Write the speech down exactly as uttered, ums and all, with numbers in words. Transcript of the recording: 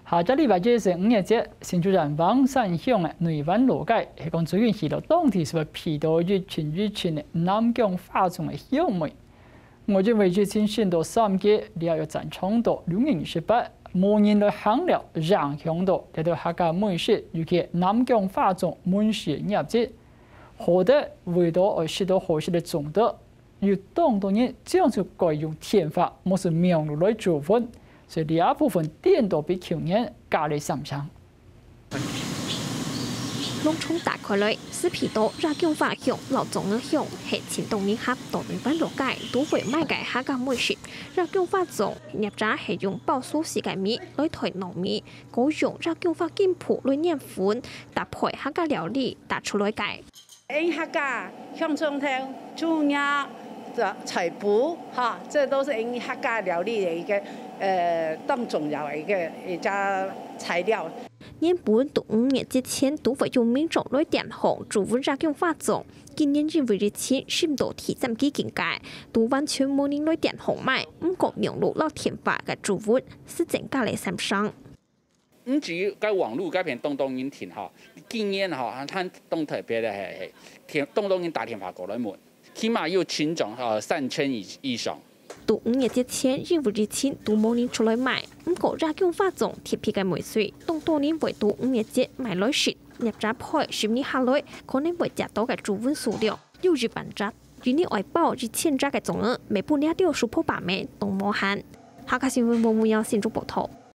下隻禮拜一係五月節，新竹縣橫山鄉个內灣老街，係講最近許多當地係會避到一陣一陣个南京花種个香味。我認為疫情升到三級，這又增長到六月二十八，無人來行了，影響到這兜客家美食，尤其南京花種門市个業績。好得為到愛食到好食个粽仔， 有當多人將就改用電話，無係網路來注文，所以這部分顛倒比舊年加了三成。籠統打開來，係鼻著野薑花香摎粽仔香，係盡多人客到內灣老街都會買个客家美食。野薑花粽，業者係用爆酥絲个米來代糯米，過用野薑花筋脯來研粉，搭配客家料理打出來个。 𫣆客家香蔥頭、豬肉、菜脯，哈，這都是𫣆客家料理的一個，呃，當重要的一個，一家材料。原本在五月節前都會有民眾來電項注文野薑花粽，今年因為疫情升到第三級警戒，都完全無人來電項買，毋過網路摎電話个注文係增加了三成。 毋止該網路該片當多人訂吼，今年吼，還當特別个係，係，電，當多人打電話過來問，起碼有尋總，呃，三千以，以上。在五月節前，因為疫情都無人出來買，毋過野薑花粽特別个味緒，當多人會在五月節買來食。業者配十日下來，可能會接到个注文數量有一萬隻。一日愛包一千隻个粽仔，賣分這兜supo把妹當無閒。客家新聞黃文耀新竹報導。